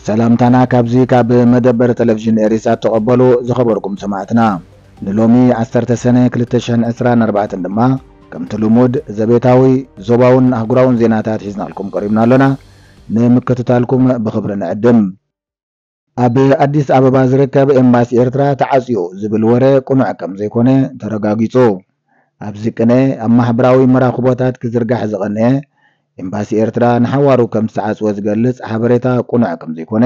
ሰላምታና ካብዚ ካብ መደበር ቴሌቪዥን ኤሪሳት ተቐበሉ ዝኸበርኩም ሰማዕትና። ንሎሚ ዓሰርተ ሰነ ክልተ ሽሕን ዕስራን ኣርባዕተን ድማ ከምቲ ልሙድ ዘቤታዊ፣ ዞባውን ኣህጉራውን ዜናታት ሒዝናልኩም ቀሪብና ኣሎና። ንምክትታልኩም ብኽብሪ ንዕድም። ኣብ ኣዲስ ኣበባ ዝርከብ ኤምባሲ ኤርትራ ተዓጽዩ ዝብል ወረ ቅኑዕ ከም ዘይኮነ ተረጋጊጹ። ኣብዚ ቅነ ኣብ ማሕበራዊ መራኽቦታት ክዝርጋሕ ዝቐነየ፣ ኤምባሲ ኤርትራ ንሓዋሩ ከም ዝተዓጽወ ዝገልጽ ሓበሬታ ቅኑዕ ከም ዘይኮነ፣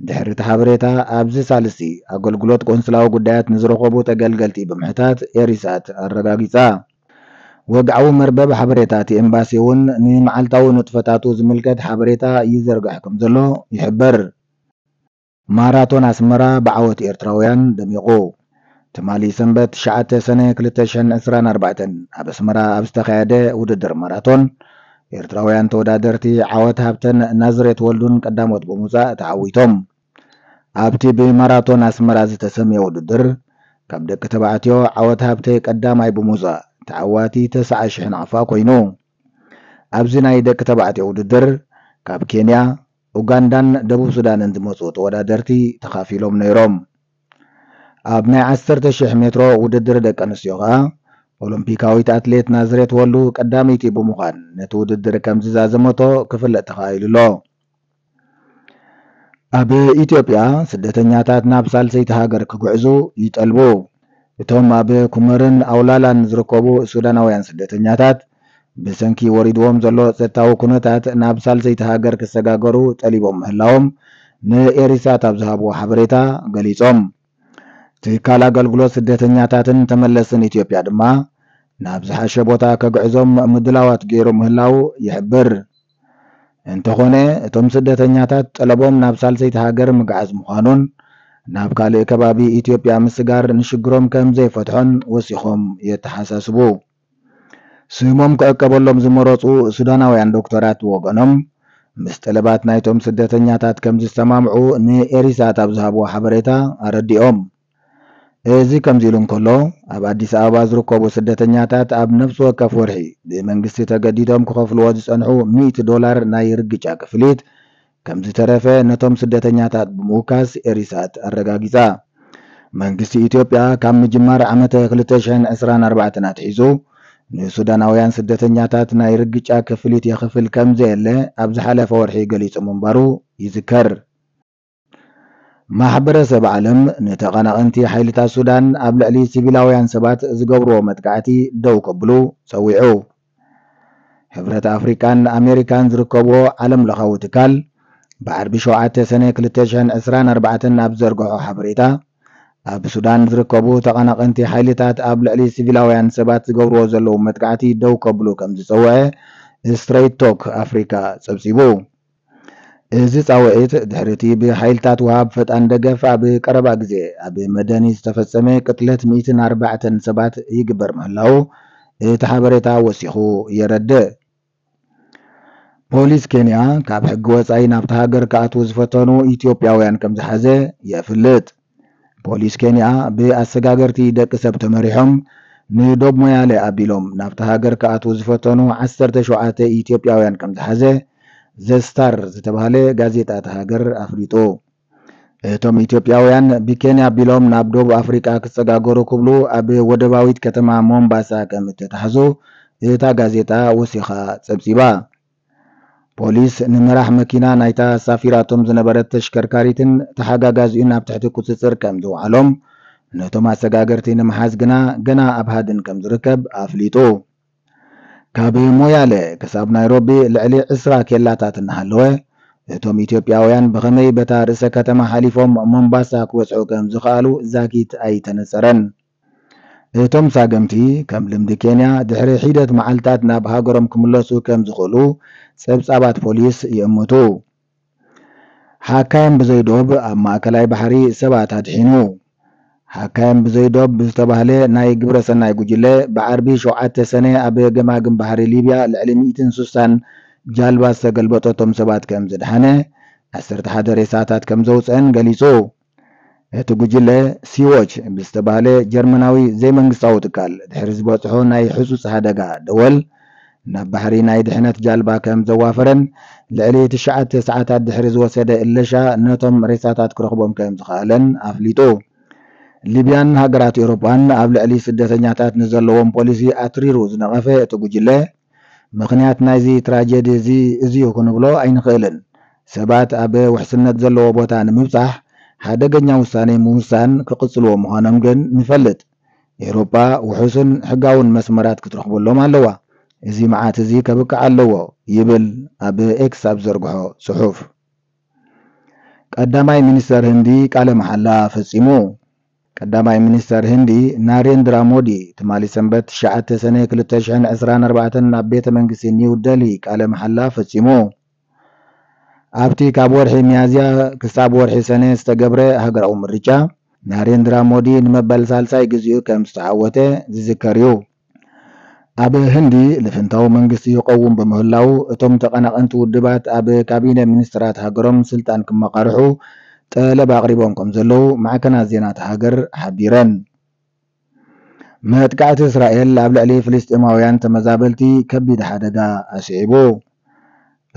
ድሕሪ እቲ ሓበሬታ ኣብዚ ሳልስቲ ኣገልግሎት ቆንስላዊ ጉዳያት ንዝረኸቡ ተገልገልቲ ብምሕታት ኤሪሳት ኣረጋጊጻ። ወግዓዊ መርበብ ሓበሬታ እቲ ኤምባሲ እውን ንመዓልታዊ ንጥፈታቱ ዝምልከት ሓበሬታ ይዘርግሕ ከም ዘሎ ይሕብር። ማራቶን ኣስመራ ብዓወት ኤርትራውያን ደሚቑ። ትማሊ ሰንበት ትሽዓተ ሰነ ክልተ ሽሕን ዕስራን ኣርባዕተን ኣብ ኣስመራ ኣብ ዝተኻየደ ውድድር ማራቶን፣ ኤርትራውያን ተወዳደርቲ ዓወት ሃብተን ናዝሬት ወልዱን ቀዳሞት ብምውጻእ ተዓዊቶም። ኣብቲ ብማራቶን ኣስመራ ዝተሰምየ ውድድር፣ ካብ ደቂ ተባዕትዮ ዓወት ሃብተ ቀዳማይ ብምውጻእ ተዓዋቲ ተስዓ ሽሕ ናቕፋ ኮይኑ። ኣብዚ ናይ ደቂ ተባዕትዮ ውድድር፣ ካብ ኬንያ፣ ኡጋንዳን ደቡብ ሱዳንን ዝመጹ ተወዳደርቲ ተኻፊሎም ነይሮም። ኣብ ናይ ዓሰርተ ሽሕ ሜትሮ ውድድር ደቂ ኣንስትዮ ከኣ፣ ኦሎምፒካዊት ኣትሌት ናዝሬት ወልዱ ቀዳመይቲ ብምዃን ነቲ ውድድር ከም ዝዛዘመቶ ክፍለጥ ተኻኢሉ ኣሎ። ኣብ ኢትዮጵያ፣ ስደተኛታት ናብ ሳልሰይቲ ሃገር ክጉዕዙ ይጠልቡ። እቶም ኣብ ኩመርን ኣውላላን ዝርከቡ ሱዳናውያን ስደተኛታት፣ ብሰንኪ ወሪድዎም ዘሎ ጸጥታዊ ኩነታት ናብ ሳልሰይቲ ሃገር ክሰጋገሩ ጠሊቦም ምህላዎም ንኤሪሳት ኣብ ዝሃብዎ ሓበሬታ ገሊጾም። ትካል ኣገልግሎት ስደተኛታትን ተመለስትን ኢትዮጵያ ድማ፣ ናብ ዝሓሸ ቦታ ከግዕዞም ምድላዋት ገይሩ ምህላዉ ይሕብር። እንተኾነ፣ እቶም ስደተኛታት ጠለቦም ናብ ሳልሰይቲ ሃገር ምግዓዝ ምዃኑን፣ ናብ ካልእ ከባቢ ኢትዮጵያ ምስጋር ንሽግሮም ከም ዘይፈትሖን ወሲኾም የተሓሳስቡ። ስሞም ክዕቀበሎም ዝመረጹ ሱዳናውያን ዶክተራት ብወገኖም፣ ምስ ጠለባት ናይቶም ስደተኛታት ከም ዝሰማምዑ ንኤሪሳት ኣብ ዝሃብዎ ሓበሬታ ኣረዲኦም። እዚ ከምዚ ኢሉ እንከሎ፣ ኣብ ኣዲስ ኣበባ ዝርከቡ ስደተኛታት ኣብ ነፍሲ ወከፍ ወርሒ ብመንግስቲ ተገዲዶም ክኸፍልዎ ዝጸንሑ ሚእቲ ዶላር ናይ ርግጫ ክፍሊት ከም ዝተረፈ ነቶም ስደተኛታት ብምውካስ ኤሪሳት ኣረጋጊጻ። መንግስቲ ኢትዮጵያ ካብ ምጅማር ዓመተ ክልተ ሽሕን ዕስራን ኣርባዕተን ኣትሒዙ ንሱዳናውያን ስደተኛታት ናይ ርግጫ ክፍሊት የኽፍል ከም ዘየለ ኣብ ዝሓለፈ ወርሒ ገሊጹ ምንባሩ ይዝከር። ማሕበረሰብ ዓለም ንተቐናቐንቲ ሓይልታት ሱዳን ኣብ ልዕሊ ሲቪላውያን ሰባት ዝገብርዎ መጥቃዕቲ ደው ከብሉ ጸዊዑ። ሕብረት ኣፍሪቃን ኣሜሪካን ዝርከብዎ ዓለም ለኻዊ ትካል ብዓርቢ ሸውዓተ ሰነ ክልተ ሽሕን ዕስራን ኣርባዕተን ኣብ ዘርግሖ ሓበሬታ፣ ኣብ ሱዳን ዝርከቡ ተቐናቐንቲ ሓይልታት ኣብ ልዕሊ ሲቪላውያን ሰባት ዝገብርዎ ዘለዉ መጥቃዕቲ ደው ከብሉ ከም ዝጸውዐ ስትሬት ቶክ ኣፍሪካ ጸብጺቡ። እዚ ጻውዒት ድሕሪ እቲ ብሓይልታት ወሃብ ፈጣን ደገፍ ኣብ ቀረባ ግዜ ኣብ መደኒ ዝተፈጸመ ቅትለት ሚእትን ኣርባዕተን ሰባት ይግበር ምህላዉ እቲ ሓበሬታ ወሲኹ የረድእ። ፖሊስ ኬንያ ካብ ሕጊ ወጻኢ ናብታ ሃገር ክኣትዉ ዝፈተኑ ኢትዮጵያውያን ከም ዝሓዘ የፍልጥ። ፖሊስ ኬንያ ብኣሰጋገርቲ ደቂ ሰብ ተመሪሖም ንዶብ ሞያሌ ኣቢሎም ናብታ ሃገር ክኣትዉ ዝፈተኑ ዓሰርተ ሸውዓተ ኢትዮጵያውያን ከም ዝሓዘ ዘ ስታር ዝተባህለ ጋዜጣ እታ ሃገር ኣፍሊጡ። እቶም ኢትዮጵያውያን ብኬንያ ኣቢሎም ናብ ደቡብ ኣፍሪቃ ክሰጋገሩ ክብሉ ኣብ ወደባዊት ከተማ ሞምባሳ ከም እተታሕዙ እታ ጋዜጣ ወሲኻ ጸብጺባ። ፖሊስ ንመራሕ መኪና ናይታ ኣሳፊራቶም ዝነበረት ተሽከርካሪትን ተሓጋጋዚኡን ኣብ ትሕቲ ቁጽጽር ከም ዘውዓሎም፣ ነቶም ኣሰጋገርቲ ንምሓዝ ግና ገና ኣብ ሃድን ከም ዝርከብ ኣፍሊጡ። ካብ ሞያለ ክሳብ ናይሮቢ ልዕሊ ዕስራ ኬላታት እናሃለወ፣ እቶም ኢትዮጵያውያን ብኸመይ በታ ርእሰ ከተማ ሓሊፎም ሞምባሳ ክበጽሑ ከም ዝኸኣሉ ዛጊት ኣይተነጸረን። እቶም ሳገምቲ፣ ከም ልምዲ ኬንያ፣ ድሕሪ ሒደት መዓልታት ናብ ሃገሮም ክምለሱ ከም ዝኽእሉ ጸብጻባት ፖሊስ ይእምቱ። ሓካይም ብዘይ ዶብ ኣብ ማእከላይ ባሕሪ ሰባት ኣድሒኑ። ሓካይም ብዘይ ዶብ ብዝተባህለ ናይ ግብረ ሰናይ ጉጅለ፣ ብዓርቢ ሸውዓተ ሰነ ኣብ ገማግም ባሕሪ ሊብያ ልዕሊ ሚእትን ስሳን ጃልባ ዝተገልበጠቶም ሰባት ከም ዝድሓነ፣ ዓሰርተ ሓደ ሬሳታት ከም ዘውፅአን ገሊጹ። እቲ ጉጅለ ሲዎች ብዝተባህለ ጀርመናዊ ዘይመንግስታዊ ትካል ድሕሪ ዝበጽሖ ናይ ህጹጽ ሓደጋ ደወል፣ ናብ ባሕሪ ናይ ድሕነት ጃልባ ከም ዘዋፈረን ልዕሊ ትሽዓተ ሰዓታት ድሕሪ ዝወሰደ እለሻ ነቶም ሬሳታት ክረኽቦም ከም ዝኸኣለን ኣፍሊጡ። ሊብያን ሃገራት ኤውሮጳን ኣብ ልዕሊ ስደተኛታት ንዘለዎም ፖሊሲ ኣትሪሩ ዝነቐፈ እቲ ጉጅለ፣ ምኽንያት ናይዚ ትራጀዲ እዚ እዚዩ ክንብሎ ኣይንኽእልን። ሰባት ኣብ ውሕስነት ዘለዎ ቦታ ንምብጻሕ ሓደገኛ ውሳኔ ምውሳን ክቕጽልዎ ምዃኖም ግን ንፈልጥ። ኤውሮጳ ውሑስን ሕጋውን መስመራት ክትረኽበሎም ኣለዋ። እዚ መዓት እዚ ከብቅዕ ኣለዎ ይብል ኣብ ኤክስ ኣብ ዘርግሖ ጽሑፍ። ቀዳማይ ሚኒስተር ህንዲ ቃለ መሓላ ፈጺሙ። ቀዳማይ ሚኒስተር ህንዲ ናሬንድራ ሞዲ ትማሊ ሰንበት ትሽዓተ ሰነ ክልተ ሽሕን ዕስራን ኣርባዕተን ኣብ ቤተ መንግስቲ ኒው ደሊ ቃለ መሓላ ፈጺሙ። ኣብቲ ካብ ወርሒ ሚያዝያ ክሳብ ወርሒ ሰነ ዝተገብረ ሃገራዊ ምርጫ ናሬንድራ ሞዲ ንመበል ሳልሳይ ግዜኡ ከም ዝተዓወተ ዝዝከር እዩ። ኣብ ህንዲ ልፍንታዊ መንግስቲ ይቐውም ብምህላው እቶም ተቐናቐንቲ ውድባት ኣብ ካቢነ ሚኒስትራት ሃገሮም ስልጣን ክመቓርሑ ጠለብ ኣቕሪቦም ከም ዘለዉ ማዕከናት ዜና እታ ሃገር ሓቢረን። መጥቃዕቲ እስራኤል ኣብ ልዕሊ ፍልስጤማውያን ተመዛበልቲ ከቢድ ሓደጋ ኣስዒቡ።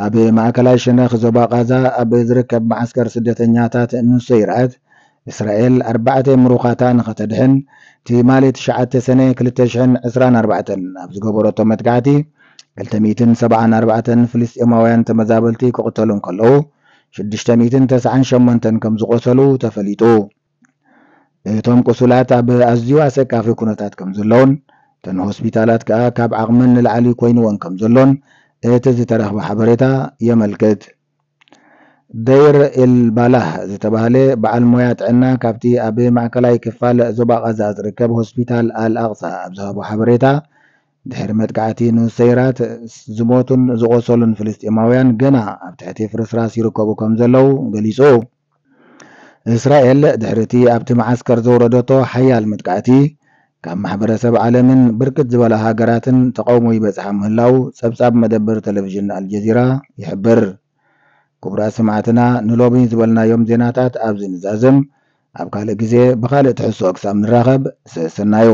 ኣብ ማእከላይ ሸነኽ ዞባ ቓዛ ኣብ ዝርከብ መዓስከር ስደተኛታት ንሶይራት እስራኤል ኣርባዕተ ምሩኻታ ንኸተድሕን ትማሊ ትሽዓተ ሰነ ክልተ ሽሕን ዕስራን ኣርባዕተን ኣብ ዝገበረቶ መጥቃዕቲ ክልተ ሚእትን ሰብዓን ኣርባዕተን ፍልስጤማውያን ተመዛበልቲ ክቕተሉ እንከለዉ ሽዱሽተ ሚእትን ተስዓን ሸሞንተን ከም ዝቖሰሉ ተፈሊጡ። እቶም ቁሱላት ኣብ ኣዝዩ ኣሰቃፊ ኩነታት ከም ዘለውን እተን ሆስፒታላት ከኣ ካብ ዓቕመን ንላዕሊ ኮይንወን ከም ዘሎን እቲ ዝተረኽበ ሓበሬታ የመልክት። ደይር ኤል ባላህ ዝተባህለ በዓል ሞያ ጥዕና ካብቲ ኣብ ማእከላይ ክፋል ዞባ ቓዛ ዝርከብ ሆስፒታል ኣል ኣቕሳ ኣብ ዝሃቦ ሓበሬታ፣ ድሕሪ መጥቃዕቲ ንሰይራት ዝሞቱን ዝቖሰሉን ፍልስጤማውያን ገና ኣብ ትሕቲ ፍርስራስ ይርከቡ ከም ዘለዉ ገሊጹ። እስራኤል ድሕሪ እቲ ኣብቲ መዓስከር ዘውረደቶ ሓያል መጥቃዕቲ፣ ካብ ማሕበረሰብ ዓለምን ብርክት ዝበላ ሃገራትን ተቓውሞ ይበጽሓ ምህላው ጸብጻብ መደበር ቴሌቪዥን ኣልጀዚራ ይሕብር። ክቡራት ሰማዕትና፣ ንሎሚ ዝበልናዮም ዜናታት ኣብዚ ንዛዝም። ኣብ ካልእ ግዜ ብኻልእ ትሕዝቶ ክሳብ ንራኸብ፣ ሰሰናዩ።